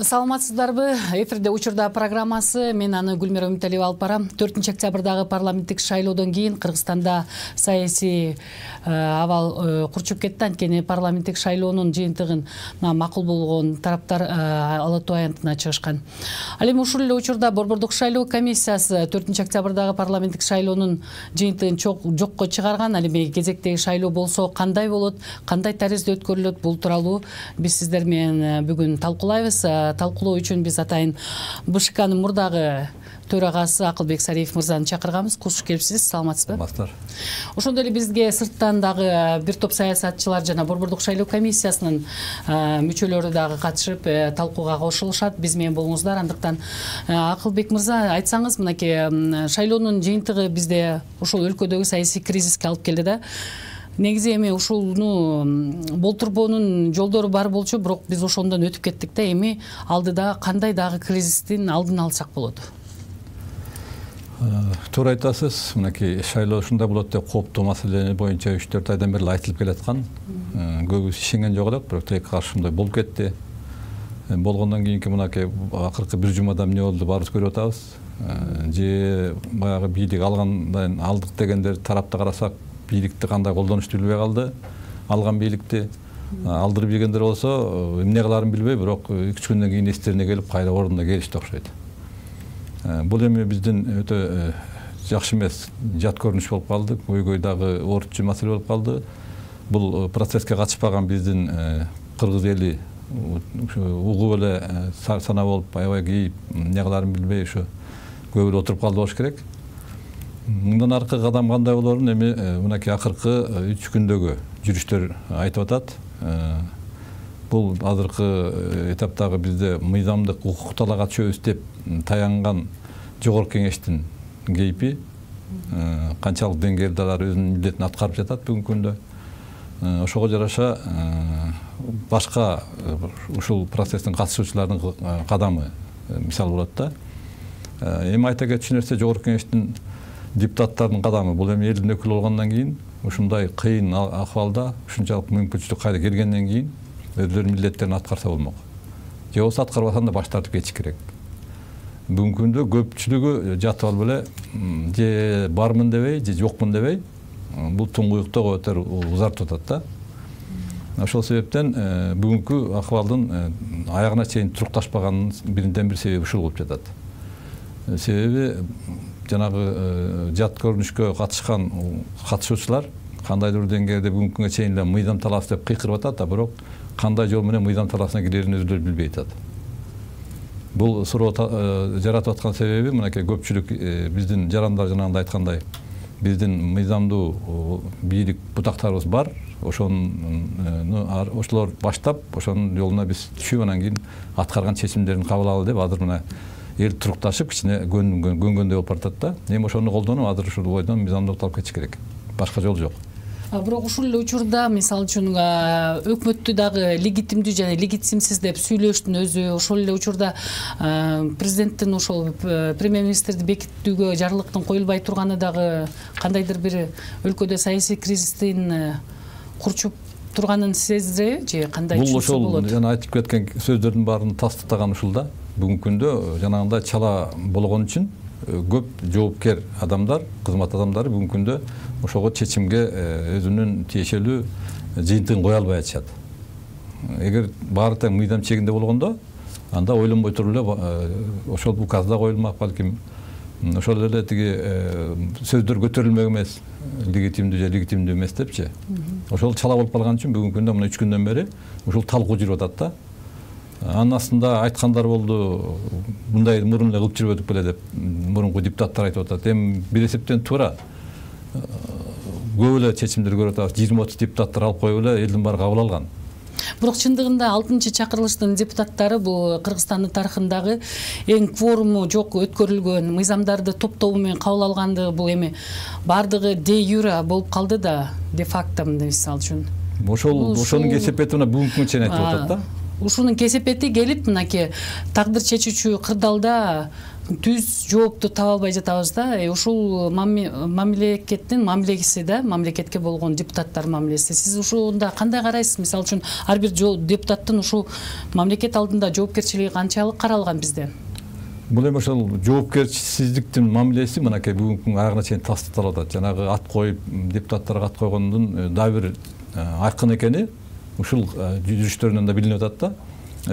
Саламатсыздарбы? Эфирде учурда программасы. Мен аны Гүлмира Үмүталиева алып барам. 4-октябрдагы парламенттик шайлоодон кийин Кыргызстанда саясий абал курчуп кетти. Анткени парламенттик шайлоонун жыйынтыгын макул болгон тараптар алатуу аянтына чыгышкан. Ал эми ушул эле учурда Борбордук шайлоо комиссиясы 4-октябрдагы парламенттик шайлоонун жыйынтыгын жокко чыгарган. Ал эми кезектеги шайлоо болсо кандай болот, кандай таризде өткөрүлөт, бул тууралуу биз сиздер менен бүгүн талкуулайбыз. Талкуулоо үчүн биз атайын БШКнын мурдагы төрагасы Акылбек Сариев мырзаны чакырганбыз. Куш келипсиз, саламатсызбы? Саламатсыздар. Ошондой эле бизге сырттан дагы бир топ саясатчылар жана Борбордук шайлоо комиссиясынын мүчөлөрү дагы катышып талкууга кошулушат. Биз менен болуңуздар. Андыктан Акылбек мырза, айтсаңыз, мынакей шайлоонун жыйынтыгы бизде ушул өлкөдөгү саясий кризиске алып келди да. Негизи эми ушуну болтурбоонун жолдору бар болчу, бирок биз ошондон өтүп кеттик да. Эми алдыда кандай дагы кризистин алдын алсак болот? Туура айтасыз. Мынакей шайлоо ушундай болот деп кооптуу маселе боюнча 3-4 айдан бери айтылып келаткан. Көбүбүз ишенген жок элек, бирок тилекке каршы ушундай болуп кетти. Болгондон кийинки мынакей акыркы бир жумада эмне болду баарыбыз көрүп атабыз. Же баягы бийлик алгандан алдык дегендер тарапты карасак, бийликти кандай колдонушту билбей калды. Алган бийликти алдырып ийгендер болсо эмне кыларын билбей, бирок 2-3 күндөн кийин эстерине келип кайра ордуна келишти окшойт. Бул эми биздин өтө жакшы эмес, жат көрүнүш болуп калды. Көйгөйдагы орчу маселе болуп калды. Бул процесске катышпаган биздин кыргыз эли угуп эле сана болуп, аябай кейип, эмне кыларын билбей ушу көп эле отуруп калды болуш керек. Мындан аркы кадам кандай болорун эми мынакей акыркы 3 күндөгү жүрүштөр айтып атат. Бул азыркы этаптагы бизде мыйзамдык укук талаага түшөбүз деп таянган жогорку кеңештин кейпи канчалык деңгээлде алар өзүнүн милдетин аткарып жатат бүгүнкү күндө. Ошого жараша башка ушул процесстин катышуучулардын кадамы мисал болот да. Эми айта кетчү нерсе жогорку кеңештин депутаттардын кадамы. Бул эми элдин өкүлү болгондон кийин ушундай кыйын акыбалда ушунчалык мүмкүнчүлүк кайда келгенден кийин өздөрүнүн милдеттерин аткарса болмок. Же болбосо аткарбасам да баш тартып кетиш керек. Бүгүнкү күндө көпчүлүгү жатып алып эле же бармын дебей, же жокмун дебей, бул туңгуюктоо өтөр узартып атат да. Ошол себептен бүгүнкү акыбалдын аягына чейин турукташпаганын биринен бир себеби ушул болуп жатат. Себеби жанагы жат көрүнүшкө катышкан катышуучулар кандайдыр деңгээлде бүгүнкү күнгө чейин эле мыйзам талаасы деп кыйкырып атат да, бирок кандай жол менен мыйзам талаасына кирерин өзүлөрү билбей атат. Бул суроо жаратып аткан себеби мынакей көпчүлүк биздин жарандар жанагында айткандай, биздин мыйзамдуу бийлик бутактарыбыз бар. Ошолор баштап, ошонун жолуна биз түшүп, анан кийин аткарган чечимдерин кабыл алалы деп азыр мына эл турукташып, кичине көнгөндөй болуп баратат да. Эми ошону колдонуп, азыр ушул бойдон мыйзамдуулукту алып кетиш керек. Башка жол жок. Бирок ушул эле учурда, мисалы үчүн, өкмөттү дагы легитимдүү жана легитимсиз деп сүйлөштүн өзү, ошол эле учурда президенттин ошол премьер-министрди бекиттүүгө жарлыктын коюлбай турганы дагы кандайдыр бир өлкөдө саясий кризистин курчуп турганын сездиреби, же кандай түшүнсө болот? Бул жана айтып кеткен сөздөрдүн баарын тастыктаган ушул да. Бүгүнкү күндө жанагындай чала болгон үчүн көп жоопкер адамдар, кызмат адамдары бүгүнкү күндө ошого чечимге өзүнүн тиешелүү жыйынтыгын кое албай атышат. Эгер баары тең мыйзам чегинде болгондо, анда ойлонбой туруп эле ошол указда коюлмак, балким ошол эле тиги сөздөр көтөрүлмөк эмес, легитимдүү же легитимдүү эмес депчи. Ошол чала болуп калган үчүн бүгүнкү күндө мына 3 күндөн бери ушул талкуу жүрүп атат да. Анын астында айткандар болду, мындай мурун эле кылып жүрбөдүк беле деп мурунку депутаттар айтып атат. Эми бир эсептен туура. Көп эле чечимдер көрүп атабыз. 20-30 депутаттар алып коюп эле элдин баары кабыл алган. Бирок чындыгында 6-чакырылыштын депутаттары бул Кыргызстандын тарыхындагы эң кворуму жок өткөрүлгөн, мыйзамдарды топтоо менен кабыл алгандыгы, бул эми бардыгы де юра болуп калды да, де факто мисалы үчүн. Ошонун кесепети мына бүгүнкү күнгө чейин айтып атат да. Ушунун кесепети келип, мынакей тагдыр чечүүчү кырдаалда түз жоопту таба албай жатабыз да. Ушул мамлекеттин мамилеси да, мамлекетке болгон депутаттар мамилеси. Сиз ушунда кандай карайсыз? Мисалы үчүн ар бир депутаттын ушул мамлекет алдында жоопкерчилиги канчалык каралган bizde? Бул эми ошол жоопкерчисиздиктин мамилеси мынакей бүгүнкү аягына чейин тастыкталып атат. Жанагы ат коюп, депутаттарга ат койгондун дагы бир айкын экени ушул жүрүштөрүнөн да билинип атат да.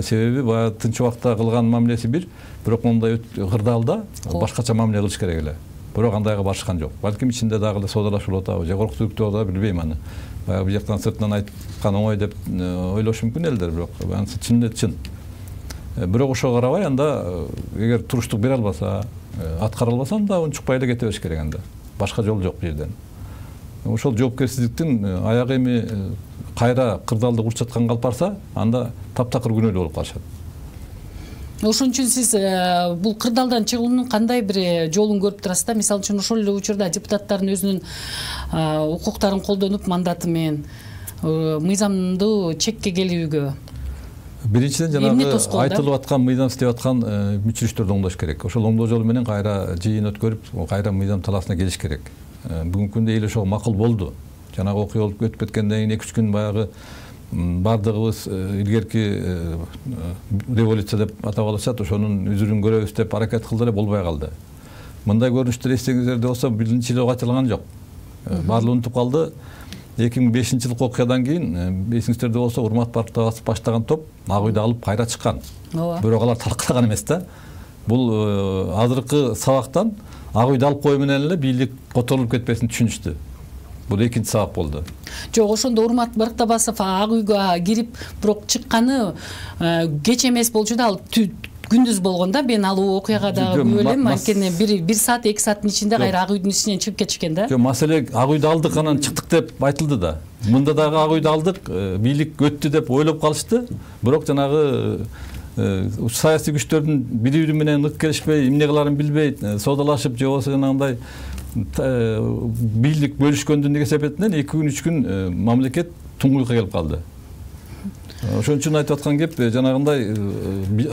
Себеби баягы тынч убакта кылган мамилеси бирок мындай кырдаалда башкача мамиле кылыш керек эле. Бирок андайга барышкан жок. Балким ичинде дагы эле соодалашып атабы, же коркутуп атабы билбейм аны. Баягы бул жактан сыртынан айткан оңой деп ойлошу мүмкүн элдер, бирок анысы чын чын. Бирок ошого карабай анда эгер туруштук бере албаса, аткара албаса анда унчукпай эле кете бериш керек анда. Башка жол жок бул жерден. Ошол жоопкерсиздиктин аягы эми кайра кырдаалды курчуп жатканга алып барса, анда таптакыр күнөөлүү болуп калышат. Ошон үчүн сиз бул кырдаалдан чыгуунун кандай бир жолун көрүп турасыз да? Мисалы үчүн ошол эле учурда депутаттардын өзүнүн укуктарын колдонуп мандаты менен мыйзамдуу чекке келүүгө. Биринчиден жанагы айтылып аткан мыйзам иштеп аткан мүчүрүштөрдү оңдош керек. Ошол оңдоо жолу менен кайра жыйын өткөрүп, кайра мыйзам талаасына келиш керек. Бүгүнкү күндө эл ошого макул болду. Жанагы окуя болуп өтүп кеткенден кийин 2-3 күн баягы бардыгыбыз илгерки революция деп атап алышат, ошонун үзүрүн көрөбүз деп аракет кылды эле, болбой калды. Мындай көрүнүштөр эстеңиздерде болсо 1-жылы ачылган жок. Баардыгы унутуп калды. 2005-жылкы окуядан кийин эсиңиздерде болсо Урмат партиясы баштаган топ Ак үйдү алып кайра чыккан. Бирок алар талкалаган эмес да. Бул азыркы сабактан Ак үйдү алып коюу менен эле бийлик которулуп кетпесин түшүнүштү. Бул экинчи сабак болду. Жок, ошондо Урмат Барктабасов Ак үйгө кирип, бирок чыкканы кеч эмес болчу да, ал күндүз болгон да. Мен ал окуяга дагы күбө элем. Анткени 1 саат 2 сааттын ичинде кайра Ак үйдүн ичинен чыгып кетишкен да. Жок, маселе Ак үйдү алдык, анан чыктык деп айтылды да. Мында дагы Ак үйдү алдык, бийлик өттү деп ойлоп калышты. Бирок жанагы саясий күчтөрдүн бири-бири менен нык келишпей, эмне кыларын билбей, соодалашып, же болбосо жанагындай бийлик бөлүшкөндүн эсебинен 2 күн 3 күн мамлекет туңгуйукка келип калды. Ошон үчүн айтып аткан кеп, жанагындай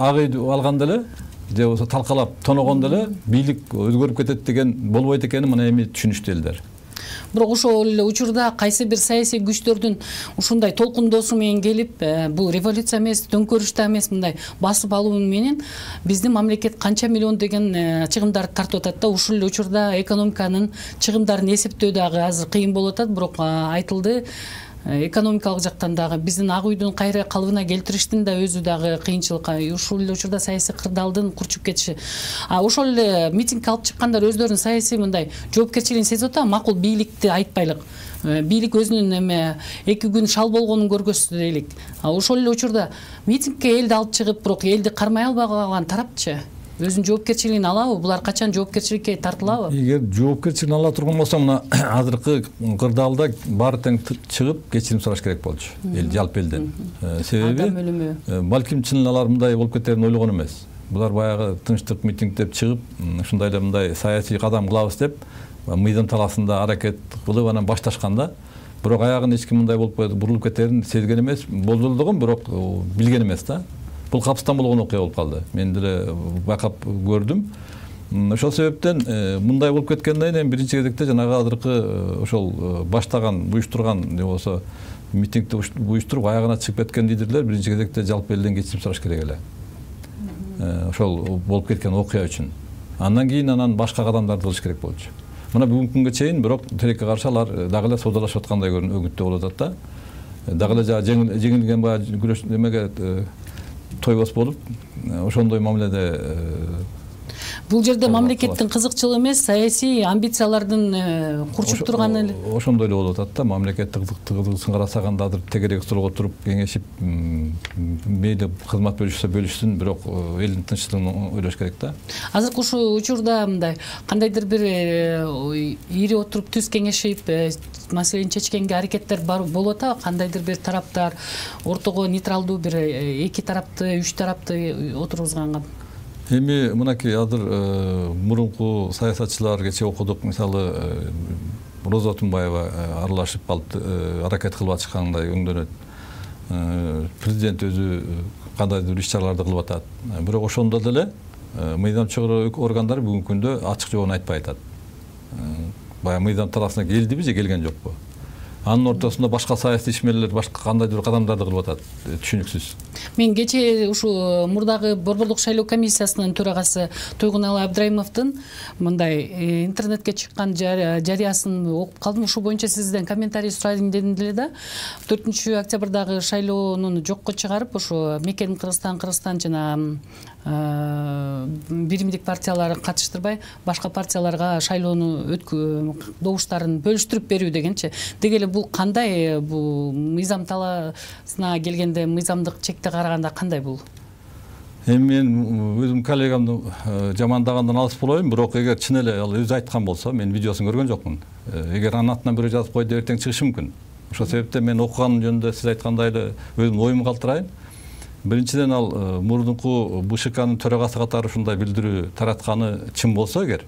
Ак үйдү алганда эле, же болбосо талкалап тоногондо эле бийлик өзгөрүп кетет деген болбойт экенин мына эми түшүнүштү элдер. Бирок ошол эле учурда кайсы бир саясий күчтөрдүн ушундай толкундоосу менен келип, бул революция эмес, төңкөрүш да эмес, мындай басып алуу менен биздин мамлекет канча миллион деген чыгымдарды тартып атат да. Ушул эле учурда экономиканын чыгымдарын эсептөө дагы азыр кыйын болуп атат, бирок айтылды экономикалык жактан дагы биздин Ак үйдүн кайра калыбына келтириштин да өзү дагы кыйынчылык. Ушул эле учурда саясий кырдаалдын курчуп кетиши. Ошол эле митинг алып чыккандар өздөрүнүн саясий мындай жоопкерчилигин сезип атат, макул бийликти айтпайлык. Бийлик өзүнүн эме 2 күн шал болгонун көргөзсү дейли. Ошол эле учурда митингге элди алып чыгып, бирок элди кармай албай калган тарапчы өзүнүн жоопкерчилигин алабы? Булар качан жоопкерчиликке тартылабы? Эгер жоопкерчилигин ала турган болсо, мына азыркы кырдаалда баары тең чыгып кечирим сураш керек болчу. Эл жалпы элден. Себеби балким чын алар мындай болуп кетерин ойлогон эмес. Булар баягы тынчтык митинг деп чыгып, ушундай эле мындай саясий кадам кылабыз деп мыйзам талаасында аракет кылып анан башташканда, бирок аягын эч ким мындай болуп бурулуп кетерин сезген эмес, болжолдогон, бирок билген эмес да. Бул капыстан болгон окуя болуп калды. Мен деле байкап көрдүм. Ошол себептен мындай болуп кеткенден кийин биринчи кезекте жанагы азыркы ошол баштаган, буюштурган, же болбосо митингди буюштуруп аягына чыгып кеткен лидерлер биринчи кезекте жалпы элден кечирим сураш керек эле. Ошол болуп кеткен окуя үчүн. Андан кийин башка кадамдарды кылыш керек болчу. Мына бүгүнкү күнгө чейин бирок тилекке каршы алар дагы эле соодалашып аткандай өгүттөө болуп атат да. Дагы эле жеңилген баягы күрөш немеге тойбос болуп, ошондой мамиледе. Бул жерде мамлекеттин кызыкчылыгы эмес, саясий амбициялардын курчуп турганы эле. Ошондой эле болуп атат да. Мамлекеттик кызыкчылыгын карасаганда азыр тегерек столго туруп кеңешип, мейли кызмат бөлүшсүн, бирок элдин тынччылыгын ойлош керек да. Азыркы ушул учурда мындай кандайдыр бир ири отуруп түз кеңешип, маселени чечкенге аракеттер болуп атабы? Кандайдыр бир тараптар ортого нейтралдуу бир 2 тарапты, 3 тарапты отургузганга. Эми мынакей азыр мурунку саясатчылар кече окудук, мисалы Роза Отунбаева аралашып алып аракет кылып атышкандай өңдөнөт. Президент өзү кандайдыр бир иш-чараларды кылып атат. Бирок ошондо деле мыйзам чыгаруу органдары бүгүнкү күндө ачык жообун айтпай атат. Баягы мыйзам талаасына келдиби же келген жокпу? Анын ортосунда башка саясий ишмерлер башка кандайдыр кадамдарды кылып атат, түшүнүксүз. Мен кечээ ушу мурдагы Борбордук шайлоо комиссиясынын төрагасы Туйгуналы Абдрайымовдун мындай интернетке чыккан жарыясын окуп калдым. Ушул боюнча сизден комментарий сурайын дедим деле да. 4-октябрдагы шайлоону жокко чыгарып, ошо Мекен Кыргызстан жана биримдик партияларды катыштырбай, башка партияларга шайлоону добуштарын бөлүштүрүп берүү дегенчи. Дегеле бул кандай, бул мыйзам талаасына келгенде мыйзамдык чекте караганда кандай бул? Эми мен өзүм коллегамды жамандагандан алыс болоюн, бирок эгер чын эле ал өзү айткан болсо, мен видеосун көргөн жокмун. Эгер анын атынан бирөө жазып койду, эртең чыгышы мүмкүн. Ошол себептен мен окуган жөнүндө сиз айткандай эле өзүмдүн оюмду калтырайын. Биринчиден ал мурдунку БШКнын төрагасы катары ушундай билдирүү таратканы чын болсо эгер,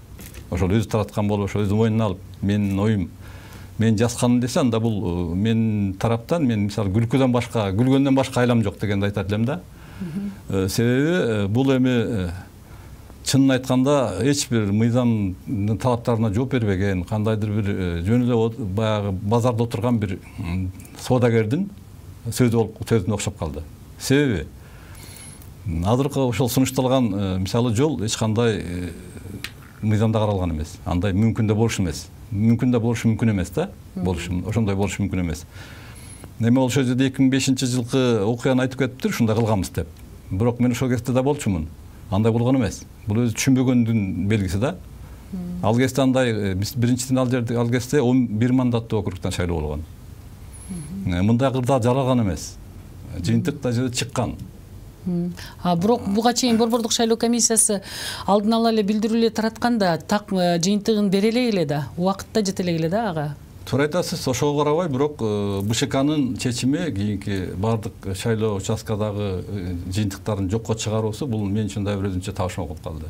ошол өзү тараткан болуп, ошо өзү мойнуна алып, менин оюм, мен жазганмын десе, анда бул мен тараптан, мен мисалы күлгөндөн башка айлам жок дегенди айтат элем да. Себеби бул эми чынын айтканда эч бир мыйзамдын талаптарына жооп бербеген, кандайдыр бир жөн эле баягы базарда отурган бир соодагердин сөзүнө окшоп калды. Себеби азыркы ошол сунушталган мисалы жол эч кандай мыйзамда каралган эмес. Андай мүмкүн да болушу эмес. Мүмкүн да болушу мүмкүн эмес да. Ошондой болушу мүмкүн эмес. Эми ошол жерде 2005-жылкы окуяны айтып кетиптир, ушундай кылганбыз деп. Бирок мен ошол кезде да болчумун. Андай болгон эмес. Бул өзү түшүнбөгөндүн белгиси да. Ал кезде андай биринчиден ал кезде 11 мандаттуу округтан шайлоо болгон. Мындай кырдаал жаралган эмес. Жыйынтык да чыккан. Бирок буга чейин Борбордук шайлоо комиссиясы алдын ала эле билдирүүлөр таратканда так жыйынтыгын бере эле да, убакытта жете эле да ага. Туура айтасыз, ошого карабай, бирок БШКнын чечими кийинки бардык шайлоо участкадагы жыйынтыктарын жокко чыгаруусу бул мен үчүн да бир өзүнчө табышма болуп калды.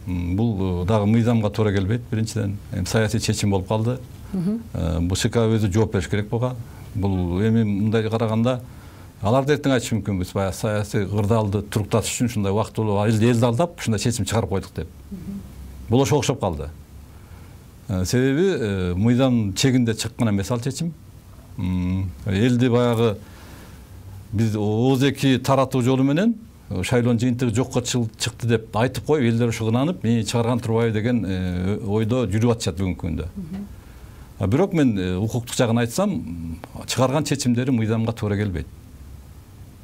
Бул дагы мыйзамга туура келбейт, биринчиден. Саясий чечим болуп калды. БШК өзү жооп бериш керек болгон. Бул эми мындай караганда алар да эртең айтышы мүмкүнбүз, баягы саясий кырдаалды туруктатыш үчүн ушундай убактылуу элди алдап, ушундай чечим чыгарып койдук деп. Бул ошого окшоп калды. Себеби мыйзам чегинде чыккан эмес ал чечим. Элди баягы биз ооз-эки таратуу жолу менен шайлоонун жыйынтыгы жокко чыкты деп айтып коюп, элдер ошого ынанып, мени чыгарган турбайбы деген ойдо жүрүп атышат бүгүнкү күндө. Бирок мен укуктук жагын айтсам, чыгарган чечимдери мыйзамга туура келбейт.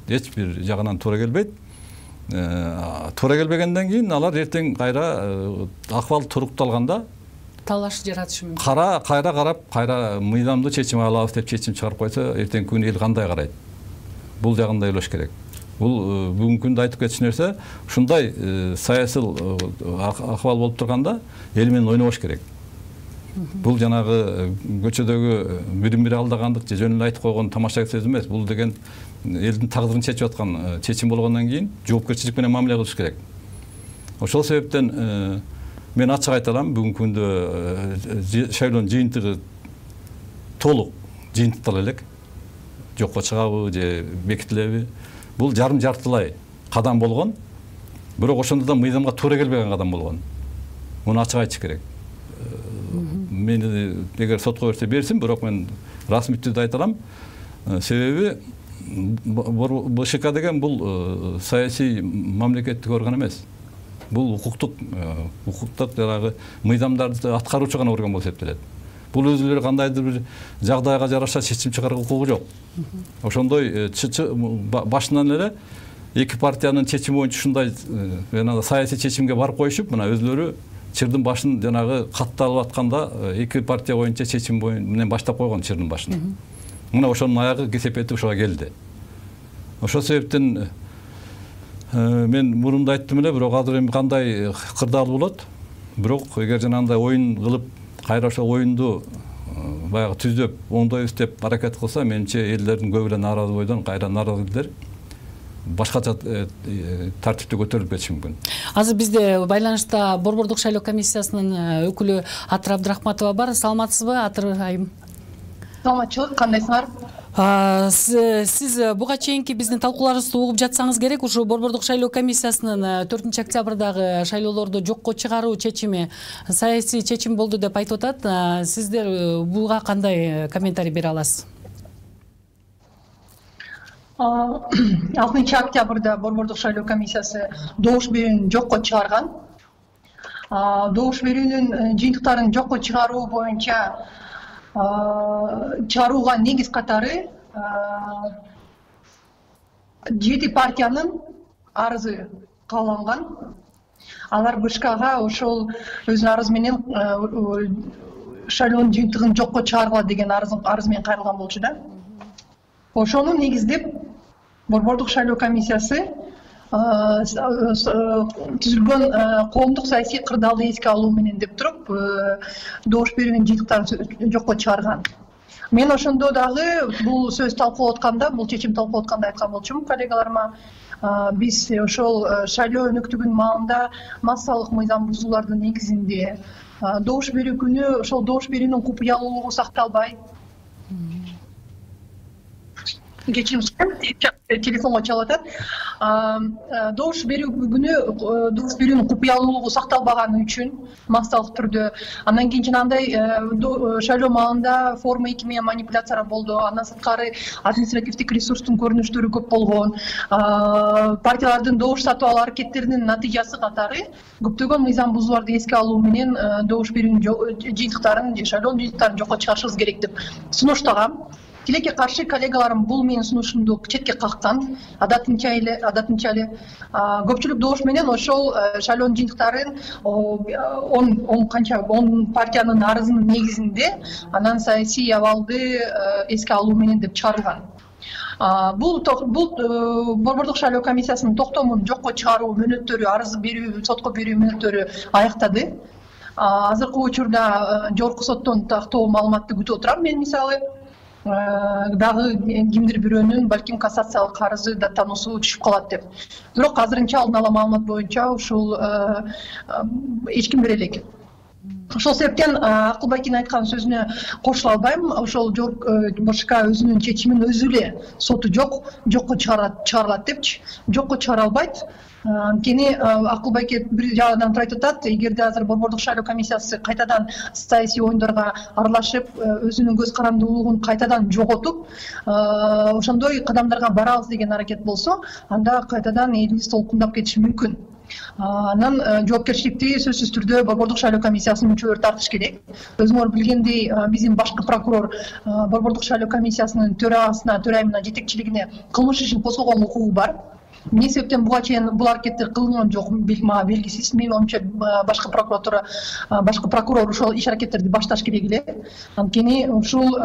Эч бир жагынан туура келбейт. Туура келбегенден кийин алар эртең кайра акыбал турукталганда талаш жаратышы мүмкүн. Кайра карап, кайра мыйзамдуу чечим алабыз деп чечим чыгарып койсо, эртең күн эл кандай карайт? Бул жагын да ойлош керек. Бул бүгүнкү күндө айтып кетиш нерсе, ушундай саясий акыбал болуп турганда эл менен ойнобош керек. Бул жанагы көчөдөгү бири-бири алдагандык же жөн эле айтып койгон тамаша сөз эмес. Бул деген элдин тагдырын чечип аткан чечим болгондон кийин жоопкерчилик менен мамиле кылыш керек. Ошол себептен мен ачык айта алам, бүгүнкү күндө шайлоонун жыйынтыгы толук жыйынтыктала элек. Жокко чыгабы же бекитилеби? Бул жарым-жартылай кадам болгон. Бирок ошондо да мыйзамга туура келбеген кадам болгон. Муну ачык айтыш керек. Мени эгер сотко берсин, бирок мен расмий түрдө айта алам. Себеби БШК деген бул саясий мамлекеттик орган эмес. Бул укуктук жанагы мыйзамдарды аткаруучу гана орган болуп эсептелет. Бул өзүлөрү кандайдыр бир жагдайга жараша чечим чыгарууга укугу жок. Ошондой башынан эле эки партиянын чечими боюнча ушундай саясий чечимге барып коюшуп, мына өзүлөрү чырдын башын жанагы катталып атканда эки партия боюнча чечим менен баштап койгон чырдын башын. Мына ошонун аягы кесепети ошого келди. Ошол себептен мен мурунда айттым эле, бирок азыр эми кандай кырдаал болот? Бирок эгер жанагындай оюн кылып, кайра ошол оюнду баягы түздөп, оңдойбуз деп аракет кылса, менимче элдердин көбү эле нааразы бойдон кайра нааразы элдер башкача тартипте көтөрүлүп кетиши мүмкүн. Азыр бизде байланышта Борбордук шайлоо комиссиясынын өкүлү Атыр Абдрахматова бар. Саламатсызбы, Атыр айым? Саламатчылык, кандайсыңар? Сиз буга чейинки биздин талкууларыбызды угуп жатсаңыз керек, ушу Борбордук шайлоо комиссиясынын 4-октябрдагы шайлоолорду жокко чыгаруу чечими саясий чечим болду деп айтып атат. Сиздер буга кандай комментарий бере аласыз? 6-октябрда Борбордук шайлоо комиссиясы добуш берүүнү жокко чыгарган. Добуш берүүнүн жыйынтыктарын жокко чыгаруу боюнча чыгарууга негиз катары 7 партиянын арызы кабыл. Алар БШКга ошол өзүнүн арызы менен шайлоонун жыйынтыгын жокко чыгаргыла деген арыз менен кайрылган болчу да. Ошону негиздеп Борбордук шайлоо комиссиясы түзүлгөн коомдук саясий кырдаалды эске алуу менен деп туруп добуш берүүнүн жыйынтыктарын жокко чыгарган. Мен ошондо дагы бул сөз талкуулап атканда, бул чечим талкуулап атканда айткан болчумун коллегаларыма, биз ошол шайлоо өнөктүгүнүн маалында массалык мыйзам бузуулардын негизинде добуш берүү күнү ошол добуш берүүнүн купуялуулугу сакталбай, кечирим сурайм, телефонго чалып атат. Добуш берүү күнү добуш берүүнүн купуялуулугу сакталбаганы үчүн массалык түрдө, андан кийин жанагындай шайлоо маалында форма 2 менен манипуляциялар болду, андан сырткары административдик ресурстун көрүнүштөрү көп болгон, партиялардын добуш сатып алуу аракеттеринин натыйжасы катары көптөгөн мыйзам бузууларды эске алуу менен добуш берүүнүн жыйынтыктарын, шайлоонун жыйынтыктарын жокко чыгарышыбыз керек деп сунуштагам. Тилекке каршы коллегаларым бул менин сунушумду четке каккан. Адатынча эле көпчүлүк добуш менен ошол шайлоонун жыйынтыктарын 10 партиянын арызынын негизинде анан саясий абалды эске алуу менен деп чыгарылган. Бул Борбордук шайлоо комиссиясынын токтомун жокко чыгаруу мөөнөттөрү, арыз берүү, сотко берүү мөөнөттөрү аяктады. Азыркы учурда жогорку соттон тактоо маалыматты күтүп отурам. Мен мисалы дагы кимдир бирөөнүн балким кассациялык арызы да таануусу түшүп калат деп. Бирок азырынча алдын ала маалымат боюнча ушул эч ким бере элек. Ошол себептен Акылбайкин айткан сөзүнө кошула албайм. Ошол БШК өзүнүн чечимин өзү эле соту жокко чыгарылат депчи. Жокко чыгара албайт. Анткени Акылбайке бир жагынан туруп айтып атат, эгерде азыр Борбордук шайлоо комиссиясы кайтадан саясий оюндарга аралашып, өзүнүн көз карандуулугун кайтадан жоготуп, ошондой кадамдарга барабыз деген аракет болсо, анда кайтадан элибиз толкундап кетиши мүмкүн. Анан жоопкерчиликти сөзсүз түрдө Борбордук шайлоо комиссиясынын мүчөлөрү тартыш керек. Өзүңөр билгендей, биздин башкы прокурор Борбордук шайлоо комиссиясынын төрайымына, жетекчилигине кылмыш ишин козгогон укугу бар. Эмне себептен буга чейин бул аракеттер кылынган жок, мага белгисиз. Менин оюмча башкы прокурор ошол иш аракеттерди башташ керек эле. Анткени ушул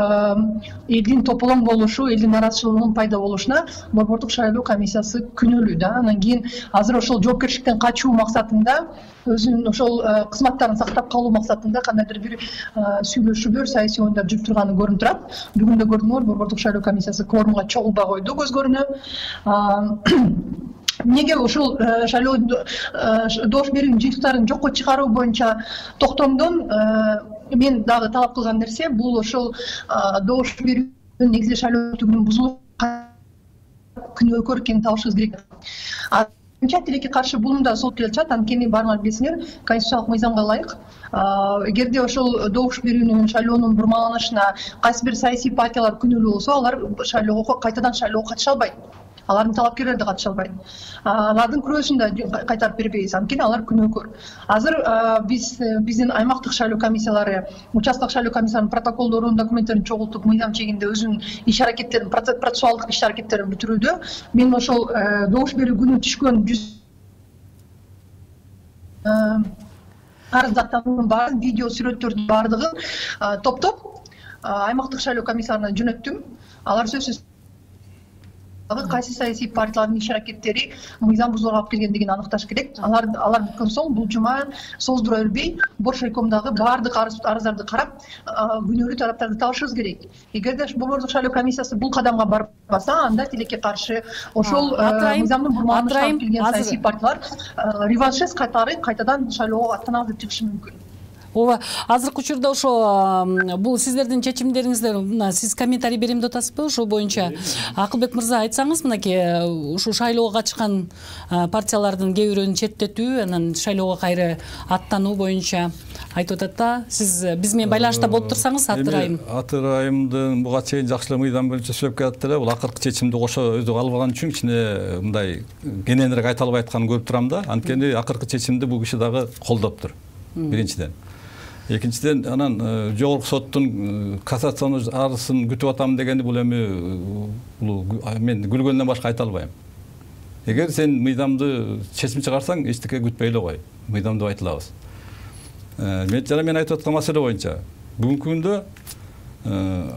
элдин тополоң болушу, элдин нараазычылыгынын пайда болушуна Борбордук шайлоо комиссиясы күнөөлүү да. Андан кийин азыр ошол жоопкерчиликтен качуу максатында, өзүнүн ошол кызматтарын сактап калуу максатында кандайдыр бир сүйлөшүүлөр, саясий оюндар жүрүп турганы көрүнүп турат. Бүгүн да көрдүңөр, Борбордук шайлоо комиссиясы кворумга чогулбай койду, көз көрүнөт. Эмнеге ушул шайлоо добуш берүүнүн жыйынтыктарын жокко чыгаруу боюнча токтомдон мен дагы талап кылган нерсе, бул ошол добуш берүүнүн негизи шайлоо өнөктүгүнүн бузулуу күнөөкөр экенин табышыбыз керек. Тилекке каршы бул да сот келе чыгат, анткени баарыңар билесиңер, конституциялык мыйзамга ылайык эгерде ошол добуш берүүнүн шайлоонун бурмаланышына кайсы бир саясий партиялар күнөөлүү болсо, алар кайтадан шайлоого катыша албайт. Алардын талапкерлери да катыша албайт. Алардын күрөөсүн да кайтарып бербейбиз, анткени алар күнөөкөр. Азыр биздин аймактык шайлоо комиссиялары, участоктук шайлоо комиссияларынын протоколдорун, документтерин чогултуп, мыйзам чегинде өзүнүн иш аракеттерин, процессуалдык иш аракеттерин бүтүрүүдө. Мен ошол добуш берүү күнү түшкөн арыздаттардын баарын, видео сүрөттөрдүн баардыгын топтоп аймактык шайлоо комиссияларына жөнөттүм. Алар сөзсүз кайсы саясий партиялардын иш аракеттери мыйзам бузууларга алып келгендигин аныкташ керек. Алар бүткөн соң бул жума создура бербей, Боршайкомдагы баардык арыздарды карап, күнөөлүү тараптарды табышыбыз керек. Эгерде Борбордук шайлоо комиссиясы бул кадамга барбаса, анда тилекке каршы ошол мыйзамдын бурмаланышына алып келген саясий партиялар реваншист катары кайтадан шайлоого аттанабыз деп чыгышы мүмкүн. ооба азыркы учурда ошо бул сиздердин чечимдериңиздер, мына сиз комментарий берем деп атасызбы ошол боюнча? Акылбек мырза, айтсаңыз, мынакей ушу шайлоого катышкан партиялардын кээ бирөөнү четтетүү, анан шайлоого кайра аттануу боюнча айтып атат да. Сиз биз менен байланышта болуп турсаңыз, Аты Райым. Аты Райымдын буга чейин жакшы эле мыйзам боюнча сөйлөп келатты эле. Бул акыркы чечимди кошо өзү албаган үчүн кичине мындай кененирээк айта албай атканын көрүп турам да. Анткени акыркы чечимди бул киши дагы колдоптур. Биринчиден. Экинчиден, анан жогорку соттун кассацион арызын күтүп атам дегени бул эми мен күлгөндөн башка айта албайм. Эгер сен мыйзамды чечим чыгарсаң, эчтеке күтпөй эле кой. Мыйзамды айтылабыз. Мен айтып аткан маселе боюнча бүгүнкү күндө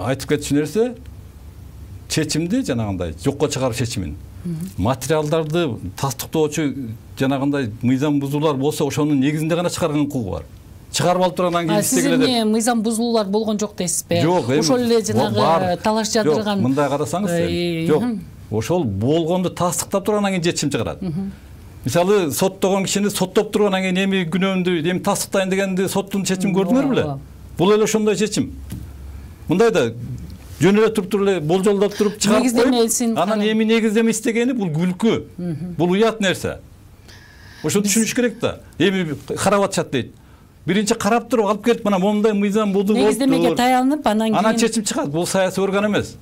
айтып кетчү нерсе чечимди жанагындай жокко чыгаруу чечимин. Материалдарды тастыктоочу жанагындай мыйзам бузуулар болсо, ошонун негизинде гана чыгарган укугу бар. Чыгарып алып тургандан кийин сиз эмне мыйзам бузуулар болгон жок дейсизби? Жок, ошол эле жанагы талаш жадырган. Мындай карасаңыз, жок. Ошол болгонду тастыктап тургандан кийин чечим чыгарат. Мисалы, соттогон кишини соттоп тургандан кийин эми күнөөмдү эми тастыктайын дегенди соттун чечим көрдүңөр беле? Бул эле ошондой чечим. Мындай да жөн эле туруп эле болжолдоп туруп чыгарып коюп, анан эми негиздеме истегени бул күлкү. Бул уят нерсе. Ошону түшүнүш керек да. Эми карап атышат дейт. Биринчи карап туруп алып келип, мына момундай мыйзам болду. Негиздемеге таянып, анан чечим чыгат. Бул саясий орган эмес.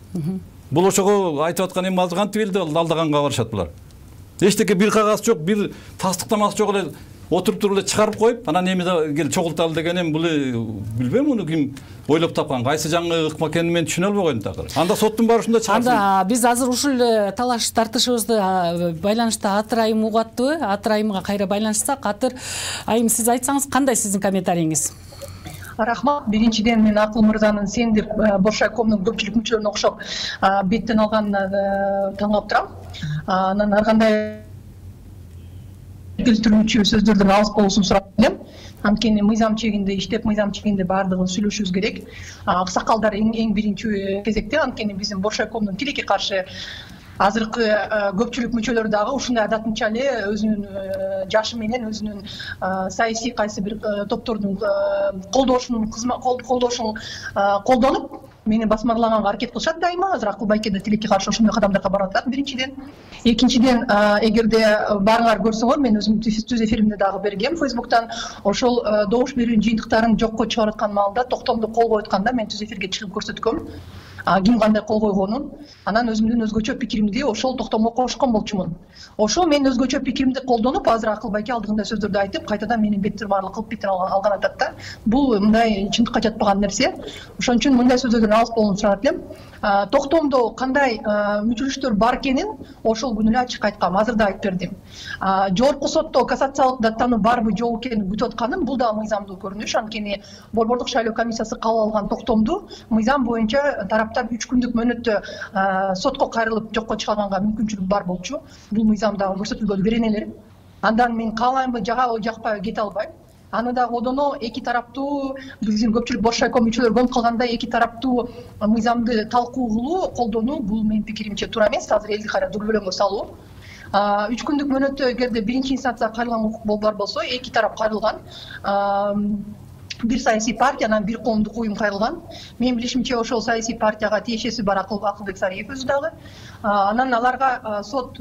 Бул ошого айтып аткан эми азыр кантип элди алдаганга барышат булар. Эчтеке бир кагаз жок, бир тастыктамасы жок эле отуруп туруп эле чыгарып коюп, анан эми кел чогулталы деген эми бул билбейм, муну ким ойлоп тапкан, кайсы жаңы ыкма экенин мен түшүнө албай койдум такыр. Анда соттун баары ушундай чыгарсын. Анда биз азыр ушул талаш тартышыбызды байланышта Аты Райым угаттыбы? Аты Райымга кайра байланышсак, Аты Айым, сиз айтсаңыз, кандай сиздин комментарийиңиз? Рахмат. Биринчиден мен Акыл мырзанын сен деп Боршайкомдун көпчүлүк мүчөлөрүнө окшоп беттен алганына таң калып турам. Анан ар кандай келтирүүчү сөздөрдөн алыс болуусун сурап элем. Анткени мыйзам чегинде иштеп, мыйзам чегинде баардыгын сүйлөшүбүз керек. Аксакалдар эң биринчи кезекте, анткени биздин Боршайкомдун тилекке каршы азыркы көпчүлүк мүчөлөр дагы ушундай адатынча эле өзүнүн жашы менен өзүнүн саясий кайсы бир топтордун колдошун колдонуп мени басмарлаганга аракет кылышат дайыма. Азыр Акыл байке да тилекке каршы ошондой кадамдарга барып атат биринчиден. Экинчиден, эгерде баарыңар көрсөңөр, мен өзүм түз эфиримде дагы бергем Facebook'тан, ошол добуш берүү жыйынтыктарын жокко чыгарып аткан маалда токтомду кол коюп атканда мен түз эфирге чыгып көрсөткөм. Ким кандай кол койгонун, анан өзүмдүн өзгөчө пикиримди ошол токтомго кошкон болчумун. Ошол мен өзгөчө пикиримди колдонуп, азыр Акыл байке алдыгында сөздөрдү айтып, кайтадан мени беттирмарлык кылып беттен алган атат да. Бул мындай чындыкка жатпаган нерсе. Ошон үчүн мындай сөздөрдөн алыс болууну сурап элем. Токтомдо кандай мүчөлүштөр бар экенин ошол күнү эле ачык айткам, азыр да айтып бердим. Жогорку сотто кассациялык даттануу барбы жок экенин күтүп атканым, бул дагы мыйзамдуу көрүнүш. Анткени Борбордук шайлоо комиссиясы кабыл алган токтомду мыйзам боюнча тараптар 3 күндүк мөөнөттө сотко кайрылып жокко чыгарганга мүмкүнчүлүк бар болчу. Бул мыйзамдагы көрсөтүлгөн беренелер. Андан мен каалаймбы, жагабы, жакпайбы кете албайм. Аны дагы одоно эки тараптуу, биздин көпчүлүк Боршайком мүчөлөрү көрүп калгандай эки тараптуу мыйзамды талкуу кылуу, колдонуу, бул менин пикиримче туура эмес. Азыр элди кайра дүрбөлөңгө салуу. 3 күндүк мөөнөттө эгерде биринчи инстанцияга кайрылган укук бар болсо, эки тарап кайрылган. Бир саясий партия, анан бир коомдук уюм кайрылган. Менин билишимче ошол саясий партияга тиешеси бар Акылбек Сариев өзү дагы. Анан аларга сот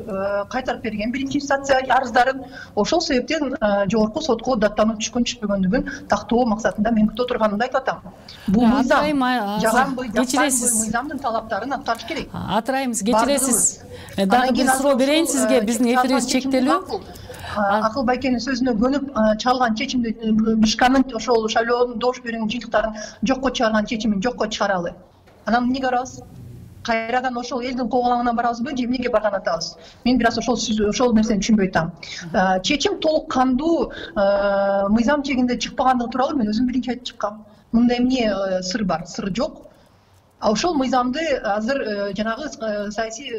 кайтарып берген биринчи инстанция арыздарын. Ошол себептен жогорку сотко даттануу түшкөн-түшпөгөндүгүн тактоо максатында мен күтүп турганымды айтып атам. Бул мыйзам жаганбы, мыйзамдын талаптарын аткарыш керек. Аты Райым, кечиресиз. Дагы бир суроо берейин сизге, биздин эфирибиз чектелүү. Акыл байкенин сөзүнө көнүп чалган чечимди Бишканын ошол шайлоонун добуш берүүнүн жыйынтыктарын жокко чыгарган чечимин жокко чыгаралы. Анан эмнеге барабыз? Кайрадан ошол элдин коголаңына барабызбы же эмнеге барган атабыз? Мен бир аз ошол нерсени түшүнбөй атам. Чечим толук кандуу мыйзам чегинде чыкпагандыгы тууралуу мен өзүм биринчи айтып чыккам. Мында эмне сыр бар? Сыр жок. Ошол мыйзамды азыр жанагы саясий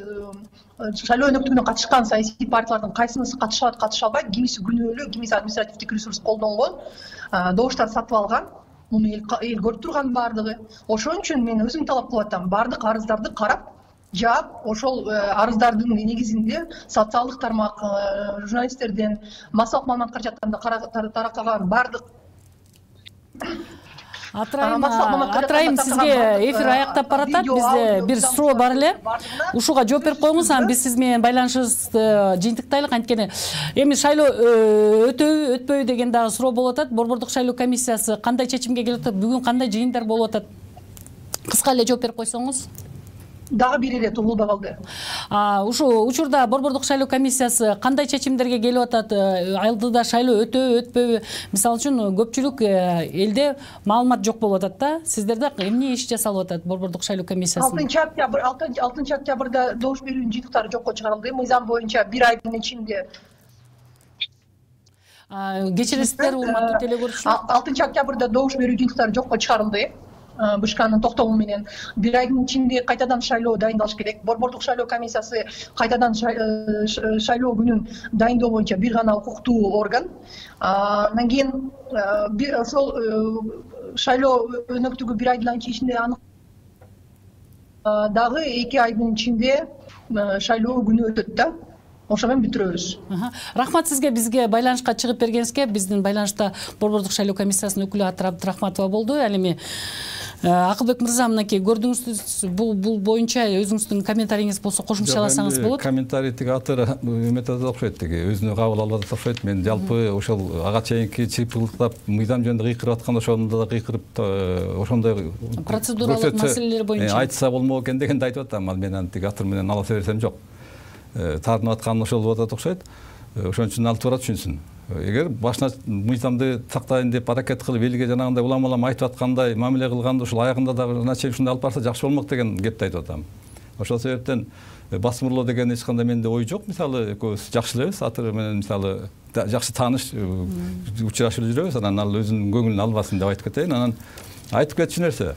шайлоо өнөктүгүнө катышкан саясий партиялардын кайсынысы катышат, катыша албайт, кимиси күнөөлүү, кимиси административдик ресурс колдонгон, добуштар сатып алган. Муну эл көрүп турган баардыгы. Ошон үчүн мен өзүм талап кылып атам, баардык арыздарды карап, жаап, ошол арыздардын негизинде социалдык тармак, журналисттерден, массалык маалымат каражаттарында таркаган баардык Атырайым сизге эфир аяктап баратат. Бизде бир суроо бар эле. Ушуга жооп берип коюңуз, анан биз сиз менен байланышыбызды жыйынтыктайлык. Анткени эми шайлоо өтөбү, өтпөйбү деген дагы суроо болуп атат. Борбордук шайлоо комиссиясы кандай чечимге келип атат? Бүгүн кандай жыйындар болуп атат? Кыска эле жооп берип койсоңуз. Дагы бир эле угулбай калды. Ушул учурда Борбордук шайлоо комиссиясы кандай чечимдерге келип атат? Алдыда шайлоо өтөбү, өтпөйбү? Мисалы үчүн көпчүлүк элде маалымат жок болуп атат да. Сиздерде эмне иш жасалып атат Борбордук шайлоо комиссиясы? 6 октябрда добуш берүүнүн жыйынтыктары жокко чыгарылды. Мыйзам боюнча 1 айдын ичинде. Кечиресиздер, урматтуу теле көрүүчүлөр. 6 октябрда добуш берүү жыйынтыктары жокко чыгарылды. БШКнын токтому менен 1 айдын ичинде кайтадан шайлоо дайындалыш керек. Борбордук шайлоо комиссиясы кайтадан шайлоо күнүн дайындоо боюнча бир гана укуктуу орган. Андан кийин ошол шайлоо өнөктүгү 1 айдын ичинде дагы 2 айдын ичинде шайлоо күнү өтөт да. Ошо менен бүтүрөбүз. Рахмат сизге, бизге байланышка чыгып бергениңизге. Биздин байланышта Борбордук шайлоо комиссиясынын өкүлү Атыр Абдрахматова болду. Ал эми Акылбек мырза, мынакей көрдүңүз, бул боюнча өзүңүздүн комментарийиңиз болсо кошумчаласаңыз болот. Комментарий тиги Атыр эметет окшойт, тиги өзүнө кабыл алып атат окшойт. Мен жалпы ошол ага чейинки чыйпылыктап мыйзам жөнүндө кыйкырып атканда ошондо да кыйкырып ошондой процедуралык маселелер боюнча айтса болмок экен дегенди айтып атам. Ал менен тиги Атыр менен алыса берсем жок. Тартынып аткан ошол болуп атат окшойт. Ошон үчүн ал туура түшүнсүн. Эгер башына мыйзамды сактайын деп аракет кылып, элге жанагындай улам айтып аткандай мамиле кылганда ушул аягында дагы наче ушундай алып барса жакшы болмок деген кепти айтып атам. Ошол себептен басмырлоо деген эч кандай менде ой жок. Мисалы экөөбүз жакшы элебиз, Атыр менен мисалы жакшы тааныш, учурашып жүрөбүз. Анан ал өзүнүн көңүлүн албасын деп айтып кетейин. Анан айтып кетчү нерсе.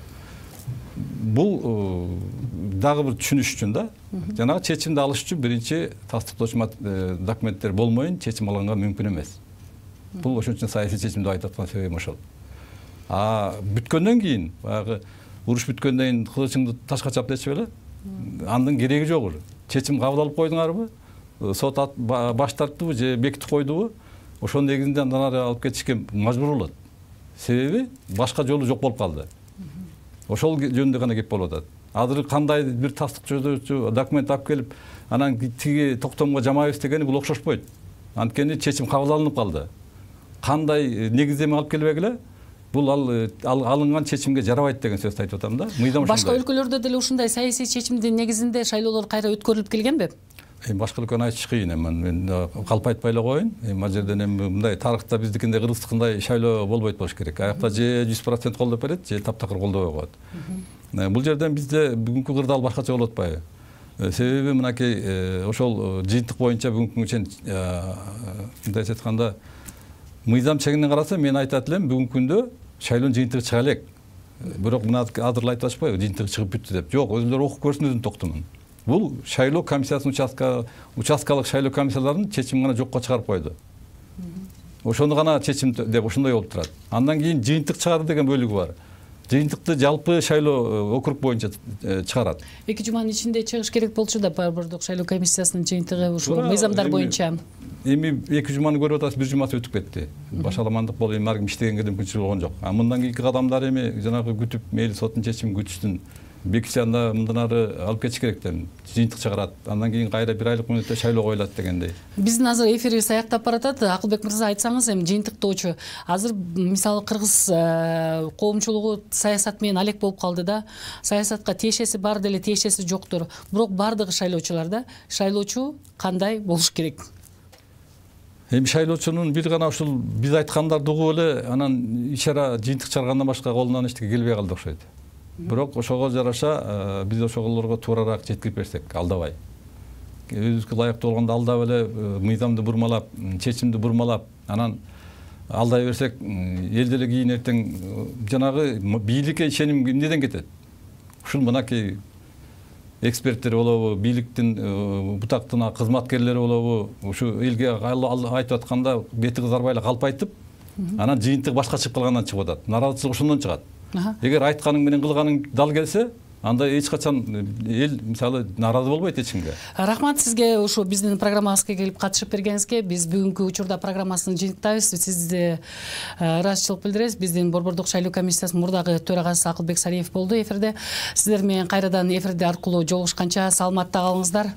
Бул дагы бир түшүнүш үчүн да, жанагы чечимди алыш үчүн биринчи тастыктоочу документтер болмойун чечим алганга мүмкүн эмес. Бул ошон үчүн саясий чечим деп айтып аткан себебим ошол. Бүткөндөн кийин, баягы уруш бүткөндөн кийин кылычыңды ташка чап дечи беле, андын кереги жок. Чечим кабыл алып койдуңарбы? Сот баш тарттыбы же бекитип койдубу? Ошонун негизинде андан ары алып кетишке мажбур болот. Себеби башка жолу жок болуп калды. Ошол жөнүндө гана кеп болуп атат. Азыр кандай бир тастыктоочу документ алып келип, анан тиги токтомго жамайбыз дегени бул окшошпойт. Анткени чечим кабыл алынып калды. Кандай негиздеме алып келбегиле, бул алынган чечимге жарабайт деген сөздү айтып атам да. Мыйзам ушундай. Башка өлкөлөрдө деле ушундай саясий чечимдин негизинде шайлоолор кайра өткөрүлүп келгенби? Башка өлкөнү айтыш кыйын. Мен калп айтпай эле коеюн. Ал жерден мындай тарыхта биздикиндей кыргыздыкындай шайлоо болбойт болуш керек. Аякта же 100% колдоп берет, же таптакыр колдобой коет. Бул жерден бизде бүгүнкү кырдаал башкача болуп атпайбы? Себеби мынакей ошол жыйынтык боюнча бүгүнкү чен мындай айтканда мыйзам чегинен караса мен айтат элем бүгүнкү күндө шайлоонун жыйынтыгы чыга элек. Бирок мына азыр айтып атышпайбы, жыйынтыгы чыгып бүттү деп. Жок, өзүлөр окуп көрсүн өзүнүн токтомун. Бул шайлоо комиссиясынын участкалык шайлоо комиссияларынын чечимин гана жокко чыгарып койду. Ошону гана чечим деп ошондой болуп турат. Андан кийин жыйынтык чыгарды деген бөлүгү бар. Жыйынтыкты жалпы шайлоо округ боюнча чыгарат. 2 жуманын ичинде чыгыш керек болчу да Борбордук шайлоо комиссиясынын жыйынтыгы ушул мыйзамдар боюнча. Эми 2 жуманы көрүп атасыз, 1 жумасы өтүп кетти. Башаламандык болуп, эми арким иштегенге да мүмкүнчүлүк болгон жок. Мындан кийинки кадамдар эми жанагы күтүп, мейли соттун чечимин күтүштүн бекитсе анда мындан ары алып кетиш керек деп жыйынтык чыгарат. Андан кийин кайра 1 айлык мөөнөттө шайлоо коюлат дегендей. Биздин азыр эфирибиз аяктап баратат. Акылбек мырза, айтсаңыз эми жыйынтыктоочу азыр мисалы кыргыз коомчулугу саясат менен алек болуп калды да. Саясатка тиешеси бар деле тиешеси жоктур. Бирок бардыгы шайлоочулар да. Шайлоочу кандай болуш керек? Эми шайлоочунун бир гана ушул биз айткандарды угуп эле анан ишара жыйынтык чыгаргандан башка колунан эчтеке келбей калды окшойт. Бирок ошого жараша биз ошолорго туурараак жеткирип берсек, алдабай. Өзүбүзгө ылайыктуу болгондо алдап эле мыйзамды бурмалап, чечимди бурмалап, анан алдай берсек, эл деле кийин эртең жанагы бийликке ишеним эмнеден кетет? Ушул мынакей эксперттер болобу, бийликтин бутактын кызматкерлери болобу, ушу элге айтып атканда бети кызарбай эле калп айтып, анан жыйынтык башка чыгып калгандан чыгып атат. Наразычылык ошондон чыгат. Эгер айтканың менен кылганың дал келсе, анда эч качан эл мисалы нааразы болбойт эч кимге. Рахмат сизге ушу биздин программабызга келип катышып бергениңизге. Биз бүгүнкү учурда программасын жыйынтыктайбыз. Сизди ыраазычылык билдиребиз. Биздин Борбордук шайлоо комиссиясынын мурдагы төрагасы Акылбек Сариев болду эфирде. Сиздер менен кайрадан эфирде аркылуу жолугушканча саламатта калыңыздар.